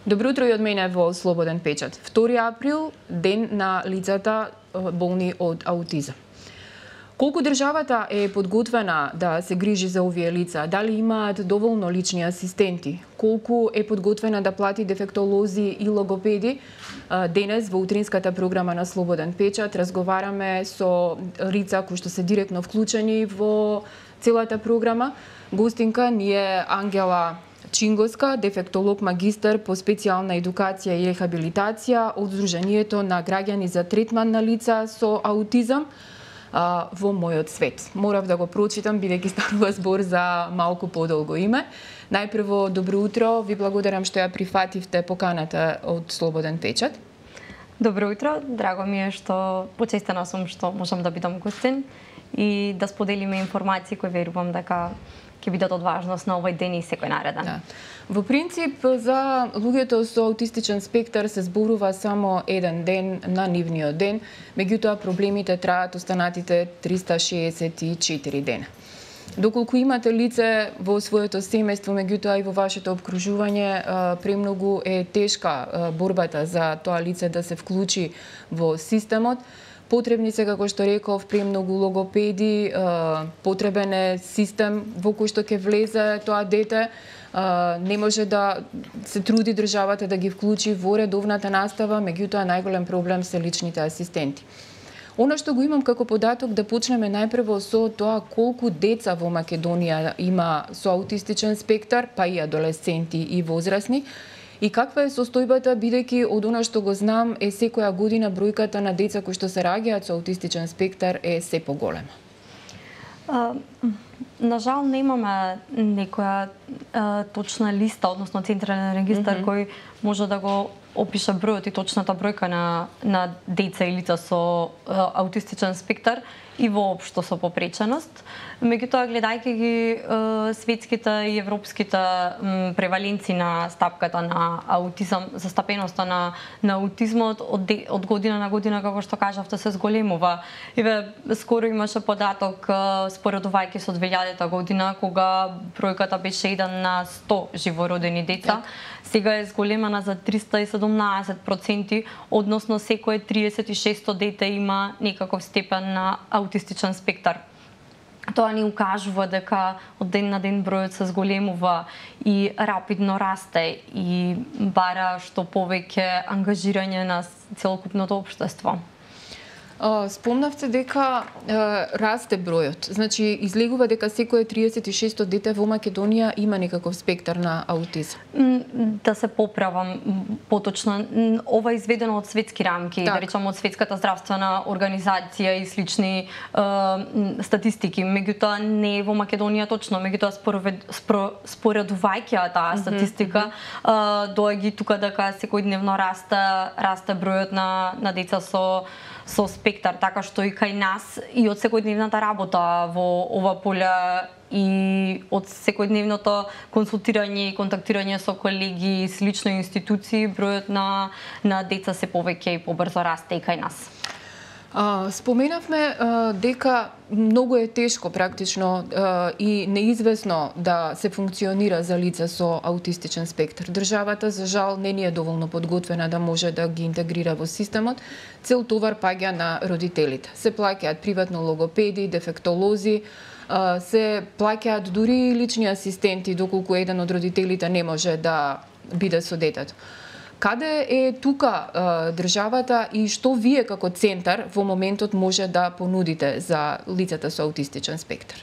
Добро утро и од мене во Слободен печат. 2 април, ден на лицата болни од аутизам. Колку државата е подготвена да се грижи за овие лица? Дали имаат доволно лични асистенти? Колку е подготвена да плати дефектолози и логопеди? Денес во утринската програма на Слободен печат разговараме со лица кои што се директно вклучени во целата програма. Гостинка ни е Ангела Чингоска, дефектолог магистар по специјална едукација и рехабилитација од Сдруженијето на граѓани за третман на лица со аутизам во мојот свет. Морав да го прочитам, бидејќи станува збор за малку подолго име. Најпрво, добро утро, ви благодарам што ја прифативте поканата од Слободен печат. Добро утро, драго ми е што почестена сум што можам да бидам гостин и да споделиме информации кои верувам дека ќе бидат од важност на овој ден и секој нареден. Да. Во принцип, за луѓето со аутистичен спектар се зборува само еден ден на нивниот ден, меѓутоа проблемите траат останатите 364 дена. Доколку имате лице во своето семејство, меѓутоа и во вашето обкружување, премногу е тешка борбата за тоа лице да се вклучи во системот. Потребни се, како што реков, премногу логопеди, потребен е систем во кој што ќе влезе тоа дете. Не може да се труди државата да ги вклучи во редовната настава, меѓутоа најголем проблем се личните асистенти. Она што го имам како податок, да почнеме најпрво со тоа колку деца во Македонија има со аутистичен спектар, па и адолесценти и возрасни, и каква е состојбата, бидејќи од она што го знам е секоја година бројката на деца кои што се раѓаат со аутистичен спектар е се поголема? На жал немаме некоја точна листа, односно централен регистар кој може да го опише бројот и точната бројка на деца и лица со аутистичен спектар и воопшто со попреченост. Меѓутоа, гледајќи ги светските и европските преваленци на стапката на аутизам, застапеноста на аутизмот од година на година, како што кажавте, се зголемува. Еве, скоро имаше податок споредувајќи со 2000 година, кога бројката беше 1 на 100 живородени деца. Сега е зголемена за 317%, односно секое 36 дете има некаков степен на аутистичен спектар. Тоа ни укажува дека од ден на ден бројот се зголемува и рапидно расте и бара што повеќе ангажирање на целокупното општество. Спомнавте дека расте бројот. Значи, излегува дека секое 36 дете во Македонија има некаков спектар на аутизам. Да се поправам поточно, ова е изведено од светски рамки, да речам од Светската здравствена организација и слични статистики. Меѓутоа не е во Македонија точно, меѓутоа споредувајќи таа статистика, доаѓа тука дека секојдневно расте бројот на деца со спектар, така што и кај нас и од секојдневната работа во ова поле и од секојдневното консултирање и контактирање со колеги и слични институции, бројот на деца се повеќе и побрзо расте и кај нас. Споменавме дека многу е тешко практично и неизвестно да се функционира за лица со аутистичен спектар. Државата, за жал, не ни е доволно подготвена да може да ги интегрира во системот. Цел товар паѓа на родителите. Се плаќаат приватно логопеди, дефектолози, се плаќаат дури и лични асистенти, доколку еден од родителите не може да биде со детето. Каде е тука државата и што вие како центар во моментот може да понудите за лицата со аутистичен спектар?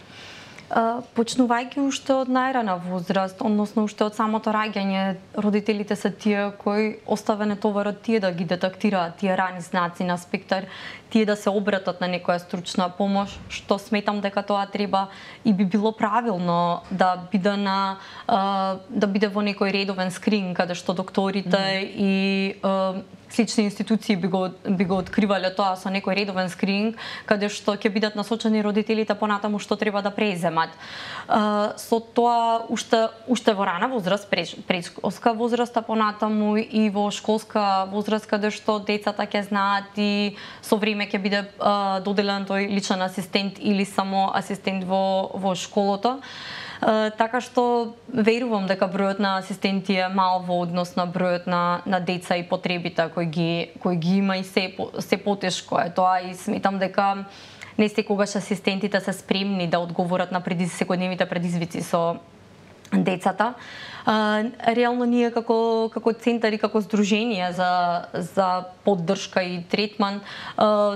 Почнувајќи уште од најрана возраст, односно уште од самото раѓање, родителите се тие кои оставене товарот тие да ги детектираат тие рани знаци на спектар, тие да се обратат на некоја стручна помош, што сметам дека тоа треба и би било правилно да биде во некој редовен скрининг каде што докторите и слични институции би го откривале тоа со некој редовен скрининг, каде што ќе бидат насочени родителите понатаму што треба да преземат. Со тоа уште во рана возраст, предшколска возраст, а понатаму и во школска возраст, каде што децата ќе знаат и со време ќе биде доделен тој личен асистент или само асистент во школото. Така што верувам дека бројот на асистенти е мал во однос на бројот на деца и потребите кои ги има и се потешко е тоа и сметам дека не секогаш асистентите се спремни да одговорат на секојдневните предизвици со децата. Реално ние како центар и како здружение за поддршка и третман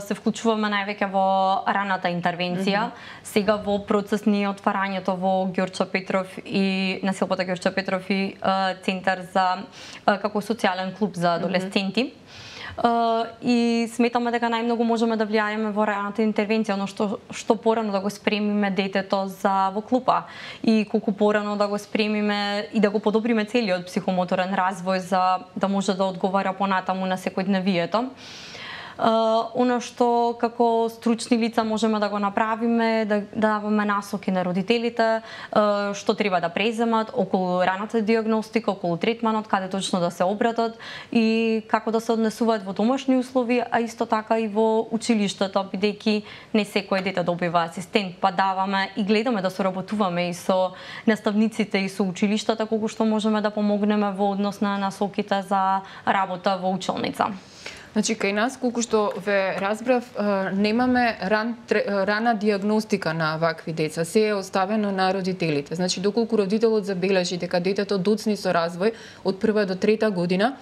се вклучуваме највеќе во раната интервенција. Сега во процес ни отварањето во Ѓорчо Петров и на Силпата Ѓорчо Петров и центар за како социјален клуб за адолесценти. И сметаме дека најмногу можеме да влијаеме во раната интервенција, но што порано да го спремиме детето во клупа и колку порано да го спремиме и да го подобриме целиот психомоторен развој за да може да одговара понатаму на секојдневието. Оно што како стручни лица можеме да го направиме, да даваме насоки на родителите, што треба да преземат околу раната диагностика, околу третманот, каде точно да се обратат и како да се однесуваат во домашни услови, а исто така и во училиштето, бидејќи не секој дете добива асистент, па даваме и гледаме да соработуваме и со наставниците и со училиштата колку што можеме да помогнеме во однос на насоките за работа во училница. Значи, кај нас, колку што ве разбрав, немаме рана диагностика на вакви деца. Се е оставено на родителите. Значи, доколку родителот забележи дека детето доцни со развој од 1 до 3 година,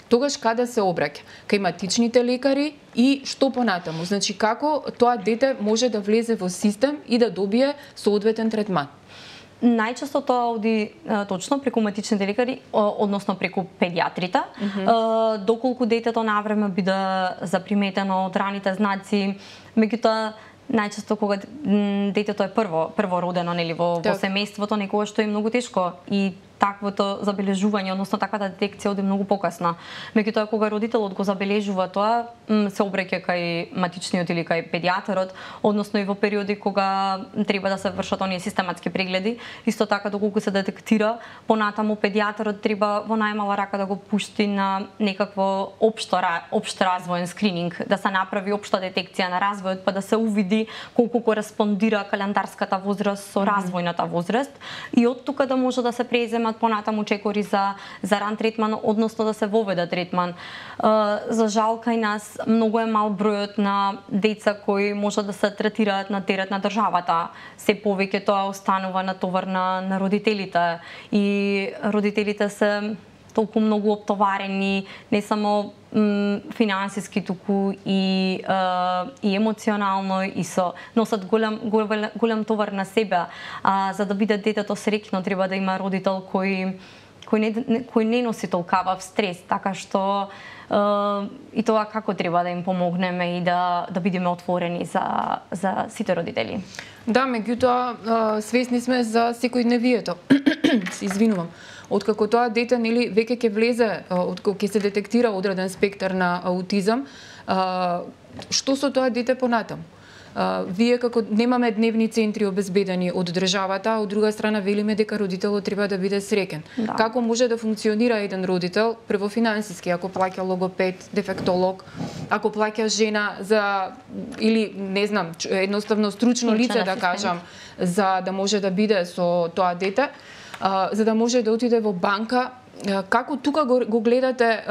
тогаш каде се обраќа? Кај матичните лекари и што понатаму? Значи, како тоа дете може да влезе во систем и да добие соодветен третман? Најчесто тоа оди точно преку матичните лекари, односно преку педиатрите. Доколку детето навреме биде заприметено од раните знаци, меѓутоа најчесто кога детето е првородено, нели, во семејството, некогаш што е многу тешко и таквото забележување, односно таквата детекција оди многу покасно. Меѓутоа кога родителот го забележува тоа, се обраќа кај матичниот или кај педијатарот, односно и во периоди кога треба да се вршат оние систематски прегледи. Исто така доколку се детектира, понатаму педијатарот треба во најмала рака да го пушти на некакво општ развоен скрининг, да се направи општа детекција на развојот, па да се увиди колку кореспондира календарската возраст со развојната возраст и од тука да може да се презема понатаму чекори за ран третман, односно да се воведе третман. За жал кај нас многу е мал бројот на деца кои може да се третираат на терет на државата. Се повеќе тоа останува на товар на родителите и родителите се толку многу оптоварени, не само финансиски, туку и емоционално и носат голем товар на себе. За да биде детето среќно треба да има родител кој не носи толкава стрес, така што и тоа како треба да им помогнеме и да бидеме отворени за сите родители. Да, меѓутоа свесни сме за секојдневието. Се извинувам. Откако тоа дете нели веќе ќе влезе, откако ќе се детектира одреден спектар на аутизам, што со тоа дете понатаму? Вие како немаме дневни центри обезбедени од државата, а од друга страна велиме дека родителот треба да биде среќен. Да. Како може да функционира еден родител прво финансиски, ако плаќа логопед, дефектолог, ако плаќа жена за или не знам, едноставно стручно лице да кажам, за да може да биде со тоа дете, за да може да отиде во банка. Како тука го гледате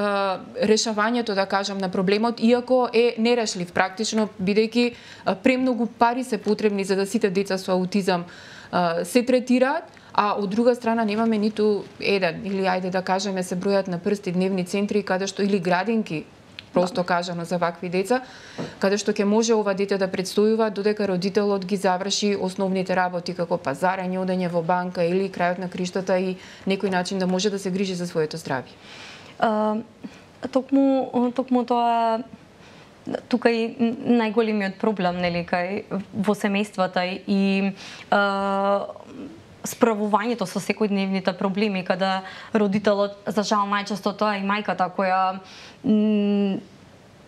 решавањето, да кажам, на проблемот, иако е нерешлив практично, бидејќи премногу пари се потребни за да сите деца со аутизам се третираат, а од друга страна немаме ниту еден, или ајде да кажеме се бројат на прсти дневни центри каде што или градинки, просто кажано за вакви деца, каде што ќе може ова дете да предстојува додека родителот ги заврши основните работи како пазарење, одење во банка или крајот на криштата и некој начин да може да се грижи за своето здравје. Токму тоа тука и најголемиот проблем, нели, во семејствата и справувањето со секојдневните проблеми, каде родителот, за жал најчесто тоа и мајката која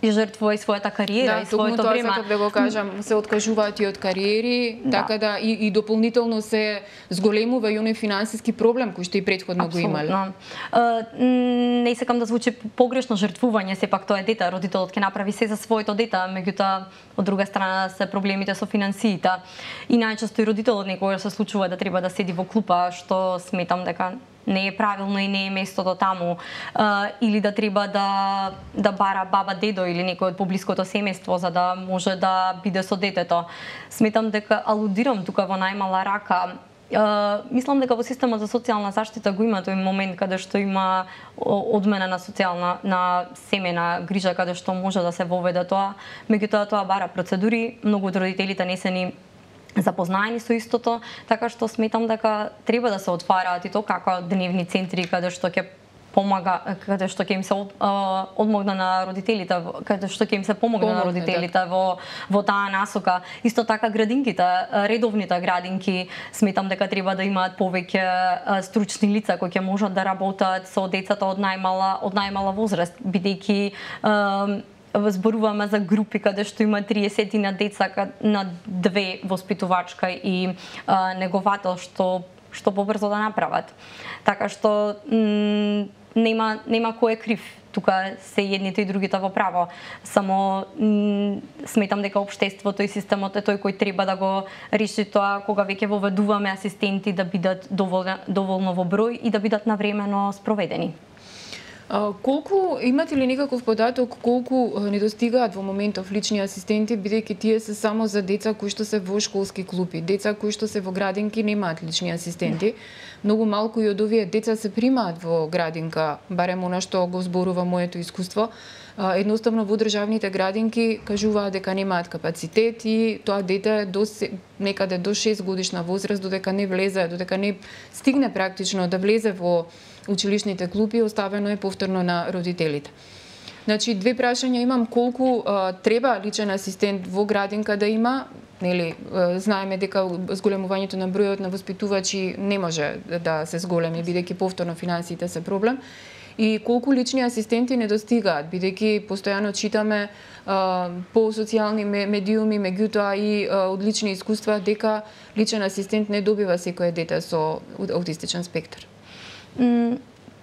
жртвува и својата кариера и своето време. Да, да го кажам, се откажуваат и од кариери, така да и дополнително се зголемува и оној финансиски проблем кој што и претходно го имале. не сакам да звучи погрешно жртвување, сепак тоа е дете, родителот ќе направи се за своето дете, меѓутоа од друга страна се проблемите со финансиите. И најчесто и родителот некогаш се случува да треба да седи во клупа, што сметам дека не е правилно и не е местото таму, или да треба да бара баба, дедо или некој од поблиското семејство за да може да биде со детето. Сметам дека алудирам тука во најмала рака. Мислам дека во системот за социјална заштита го има тој момент каде што има одмена на семена грижа, каде што може да се воведе тоа, меѓутоа тоа бара процедури, многу од родителите не се ни запознаени со истото, така што сметам дека треба да се отвараат и тоа како дневни центри каде што ќе помага, каде што ќе им се одмогна на родителите, каде што ќе им се помогне на родителите во таа насока. Исто така градинките, редовните градинки, сметам дека треба да имаат повеќе стручни лица кои ќе можат да работат со децата од најмала возраст, бидејќи зборуваме за групи каде што има 30 на деца на две воспитувачка и неговател што побрзо да направат. Така што нема кој е крив. Тука се едните и другите во право. Само сметам дека општеството и системот е тој кој треба да го реши тоа кога веќе воведуваме асистенти да бидат доволно во број и да бидат навремено спроведени. Колку имате ли некаков податок колку недостигаат во моментов лични асистенти, бидејќи тие се само за деца кои што се во школски клупи, деца кои што се во градинки немаат лични асистенти. Многу малку и од овие деца се примаат во градинка, барем она што го зборува моето искуство. Едноставно во државните градинки кажуваат дека немаат капацитет и тоа дете некаде до 6 годишна возраст додека не влезе, додека не стигне практично да влезе во училишните клупи, оставено е повторно на родителите. Значи, две прашања имам: колку треба личен асистент во градинка да има? Нели, знаеме дека зголемувањето на бројот на воспитувачи не може да се зголеми, бидејќи повторно финансиите се проблем. И колку лични асистенти недостигаат, бидејќи постојано читаме по социјални медиуми, меѓутоа и од лични искуства дека личен асистент не добива секое дете со аутистичен спектар.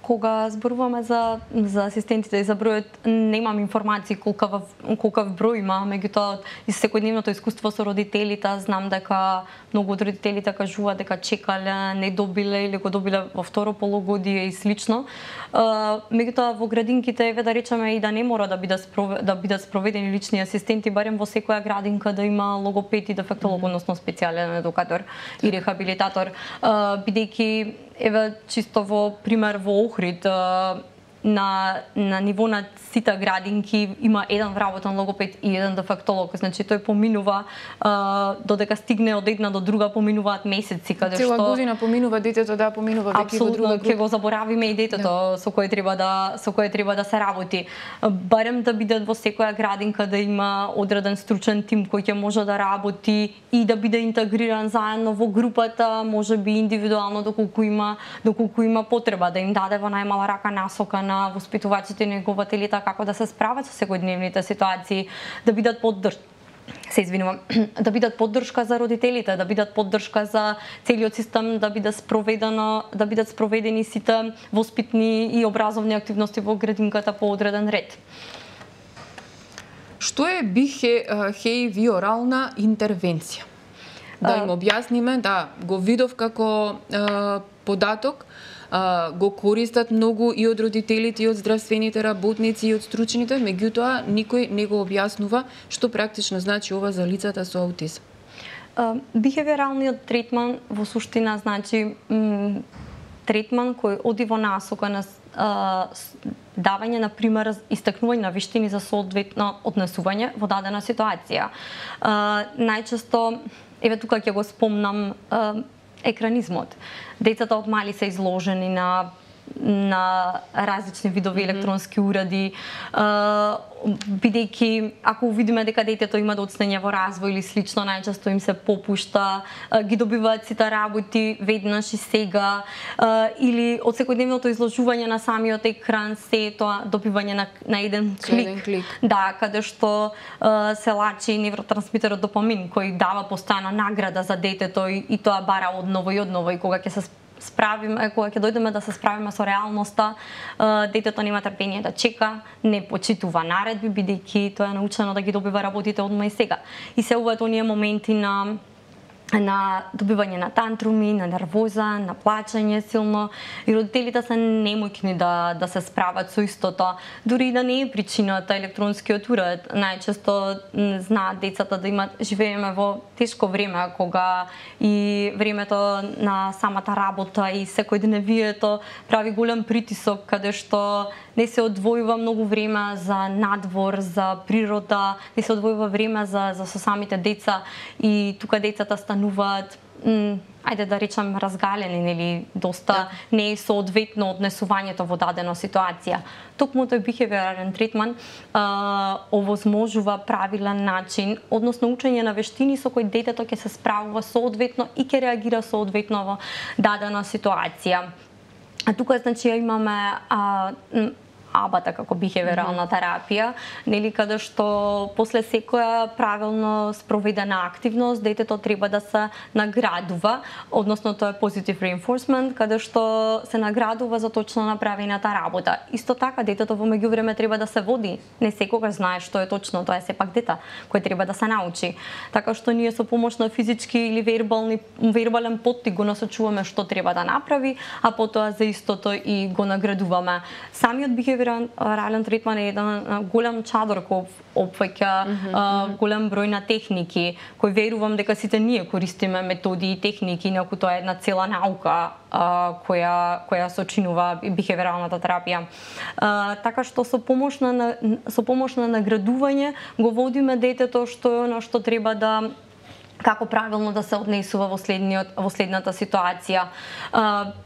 Кога зборуваме за асистентите и за бројот, немам информации колкав број има, меѓутоа и секојдневното искуство со родителите, знам дека многу од родителите кажуваат дека чекале, не добиле или го добиле во второ полугодие и слично. Меѓутоа во градинките, еве да речеме, и да не мора да бидат спроведени лични асистенти, барем во секоја градинка да има логопед и дефектолог, односно специјален едукатор и рехабилитатор, бидејќи еве чисто во пример во Охрид на ниво на сите градинки има еден вработен логопед и еден дефектолог, значи тој поминува додека стигне од една до друга, поминуваат месеци каде што цела година поминува детето, да, поминува веќе во друга група. Ќе го заборавиме и детето со кое треба да се работи. Барем да бидат во секоја градинка да има одреден стручен тим кој ќе може да работи и да биде интегриран заедно во групата, можеби индивидуално доколку има потреба, да им даде во најмала рака насока на воспитувачите и негователите како да се справат со секојдневните ситуации, да бидат да бидат поддршка за родителите, да бидат поддршка за целиот систем, да бидат спроведени сите воспитни и образовни активности во градинката по одреден ред. Што е бихевиорална интервенција? Да им објасниме, да, го видов како податок, го користат многу и од родителите, и од здравствените работници, и од стручните, меѓутоа никој не го објаснува што практично значи ова за лицата со аутизам. Бихевиоралниот третман во суштина значи третман кој оди во насока на давање на пример, истакнување на виштини за соодветно однесување во дадена ситуација. Најчесто, еве тука ќе го спомнам, екранизмот. Децата од мали се изложени на различни видови електронски уреди, бидејќи ако видиме дека детето има доцнење во развој или слично, најчесто им се попушта, ги добиваат сите работи веднаш и сега, или од секојдневното изложување на самиот екран, се тоа добивање на еден клик. Да, каде што се лачи невротрансмитерот допамин, кој дава постојано награда за детето и тоа бара одново и одново, и кога ќе се справиме, кога ќе дојдеме да се справиме со реалноста, детето нема трпение да чека, не почитува наредби бидејќи тоа е научено да ги добива работите одма и сега. И се уват оние моменти на добивање на тантруми, на нервоза, на плачење силно, и родителите се немоќни да се справат со истото. Дури и да не е причината електронскиот уред, најчесто знаат децата да живееме во тешко време, кога и времето на самата работа и секојдневието прави голем притисок, каде што не се одвојува многу време за надвор, за природа, не се одвојува време за со самите деца, и тука децата стануваат ајде да речам разгалени, нели, доста не е соодветно однесувањето во дадена ситуација. Токму тој бихевиорален третман овозможува правилен начин, односно учење на вештини со кои детето ќе се справува соодветно и ќе реагира соодветно во дадена ситуација. А тука значи имаме АБА-та како бихевиорална терапија, нели, каде што после секоја правилно спроведена активност детето треба да се наградува, односно тоа е positive reinforcement, каде што се наградува за точно направената работа. Исто така детето во меѓувреме треба да се води, не секогаш знае што е точно, тоа е сепак дете кој треба да се научи. Така што ние со помош на физички или вербален поттик го насочуваме што треба да направи, а потоа за истото и го наградуваме. Самиот бихевиорален третман е еден голем чадор кој опфаќа голем број на техники, кој верувам дека сите ние користиме методи и техники, иако тоа е една цела наука која сочинува бихевиоралната терапија. Така што со помош на наградување го водиме детето што е она што треба да како правилно да се однесува во следната ситуација,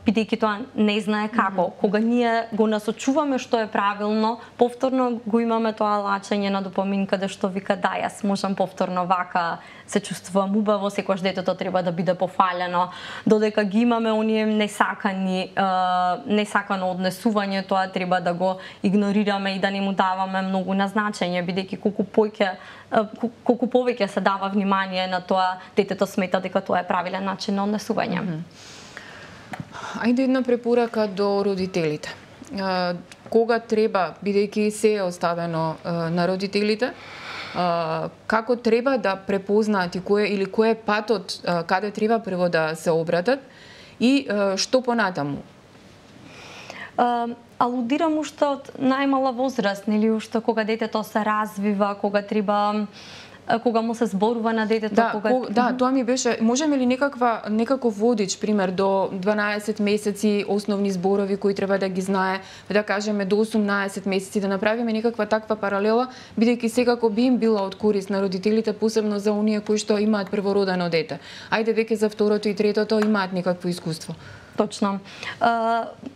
бидејќи тоа не знае како. Кога ние го насочуваме што е правилно, повторно го имаме тоа лачење на допамин, каде што вика да, јас можам повторно вака, се чувствувам убаво, секогаш детето треба да биде пофалено, додека ги имаме оние несакано однесување, тоа треба да го игнорираме и да не му даваме многу на значење, бидејќи колку повеќе се дава внимание на тоа, детето смета дека тоа е правилен начин на однесување. Ајде една препорака до родителите. Кога треба, бидејќи се е оставено на родителите, како треба да препознаат и кој е патот каде треба прво да се обратат и што понатаму? Алудирам уште од најмала возраст, нели, уште кога детето се развива, кога му се зборува на детето, Да, тоа ми беше, можеме ли некаков водич, пример, до 12 месеци основни зборови кои треба да ги знае, да кажеме до 18 месеци, да направиме некаква таква паралела, бидејќи секако би им била од корист на родителите, посебно за оние кои што имаат првородено дете. Ајде веќе за второто и третото имаат некакво искуство. Точно.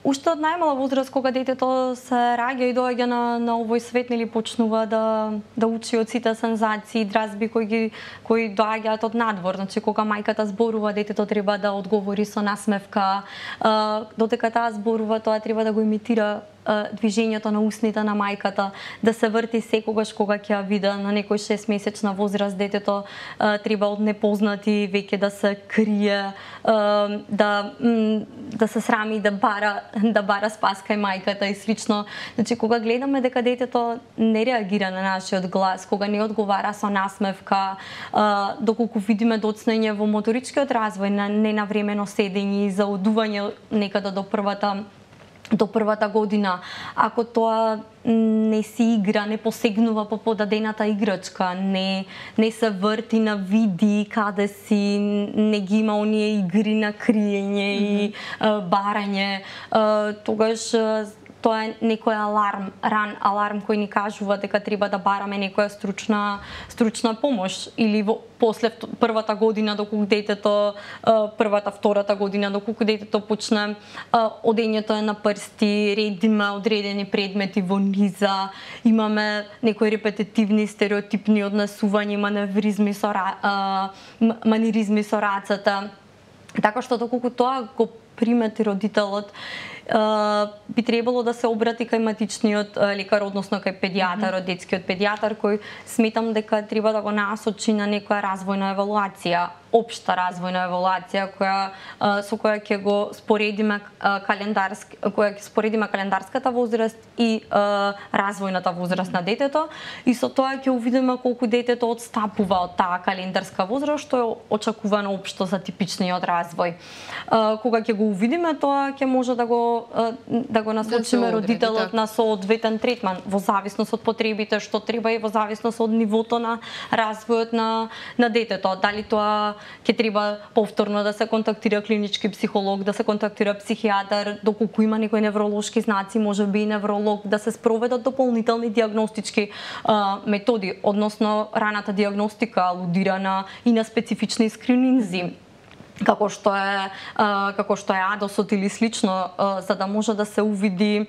Уште од најмала возраст, кога детето се раѓа и доаѓа на овој свет, нели, почнува да учи од сите сензации, дразби кои доаѓаат од надвор. Значи, кога мајката зборува, детето треба да одговори со насмевка. Додека таа зборува, тоа треба да го имитира движењето на устните на мајката, да се врти секогаш кога ќе ја види. На некој 6-месечна возраст детето треба од непознати веќе да се крие, да се срами, да бара спас кај мајката и слично. Значи, кога гледаме дека детето не реагира на нашиот глас, кога не одговара со насмевка, доколку видиме доцнење во моторичкиот развој, на ненавремено седење, заодување некаде до првата година, ако тоа не си игра, не посегнува по подадената играчка, не се врти на види каде си, не ги има оние игри на криење и барање, тогаш тоа е некој ран аларм кој ни кажува дека треба да бараме некоја стручна помош, или после првата година доколку детето, втората година доколку детето почне одењето е на прсти, редиме одредени предмети во низа, имаме некои репетитивни стереотипни однесувања, маниризми со рацете. Така што доколку тоа го примети родителот, би требало да се обрати кај матичниот лекар, односно кај педијатарот, детскиот педијатар, кој сметам дека треба да го насочи на некоја развојна евалуација општа развојна евалуација со која ќе го споредиме календарската возраст и развојната возраст на детето, и со тоа ќе увидиме колку детето отстапува од таа календарска возраст што е очекувано општо за типичниот развој. Кога ќе го увидиме тоа, ќе може да го насочиме родителот на соодветен третман во зависност од потребите што треба и во зависност од нивото на развојот на детето. Дали тоа ќе треба повторно да се контактира клинички психолог, да се контактира психијатар, доколку има некои невролошки знаци, можеби и невролог, да се спроведат дополнителни дијагностички методи, односно раната дијагностика алудира и на специфични скрининзи, како што е адосот или слично, за да може да се увиди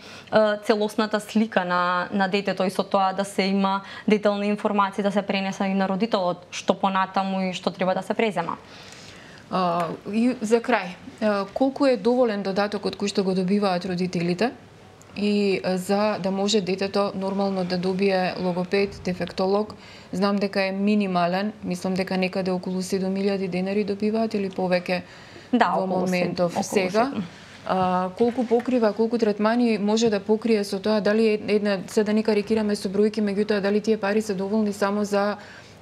целосната слика на детето и со тоа да се има детални информации да се пренеса и на родителот, што понатаму и што треба да се презема. И за крај, колку е доволен додатокот кој што го добиваат родителите и за да може детето нормално да добие логопед, дефектолог? Знам дека е минимален, мислам дека некаде околу 7.000 денари добиваат или повеќе во моментов сега. Колку покрива, колку третмани може да покрие со тоа? Дали се да не карикираме со бројки, меѓутоа дали тие пари се доволни само за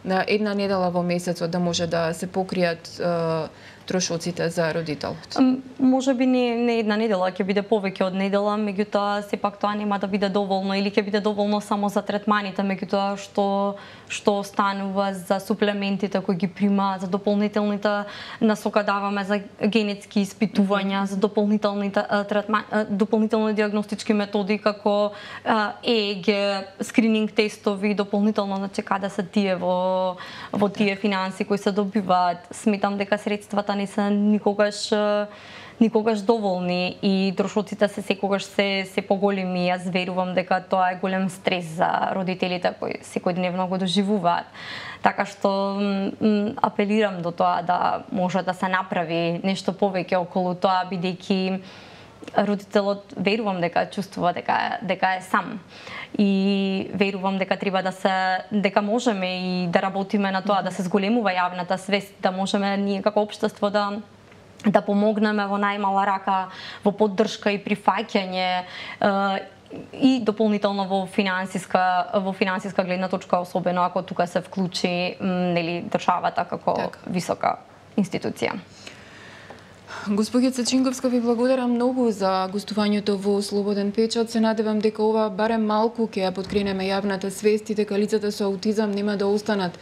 една недела во месецот да може да се покријат трошоците за родителот? Можеби не една недела, ќе биде повеќе од недела, меѓутоа сепак тоа нема да биде доволно или ќе биде доволно само за третманите, меѓутоа што останува за суплементите кои ги прима, за дополнителните насока даваме за генетски испитувања, за дополнителни дијагностички методи како ЕЕГ, скрининг тестови, дополнително значи каде се тие во тие финанси кои се добиваат. Сметам дека средствата не се никогаш доволни и трошоците се секогаш се поголеми. Јас верувам дека тоа е голем стрес за родителите кои секојдневно го доживуваат. Така што апелирам до тоа да може да се направи нешто повеќе околу тоа, бидејќи родителот верувам дека чувствува дека е сам. И верувам дека треба дека можеме и да работиме на тоа, да се зголемува јавната свест, да можеме ние како општество да помогнеме во најмала рака, во поддршка и прифаќање и дополнително во финансиска гледна точка, особено ако тука се вклучи државата како висока институција. Госпоѓица Чинковска, ви благодарам многу за гостувањето во Слободен печат. Се надевам дека ова барем малку ќе ја подкренеме јавната свест и дека лицата со аутизам нема да останат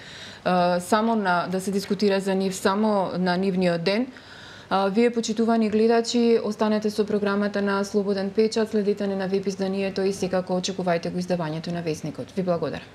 само да се дискутира за нив само на нивниот ден. Вие, почитувани гледачи, останете со програмата на Слободен печат, следете на веб изданието и секако очекувајте го издавањето на Весникот. Ви благодарам.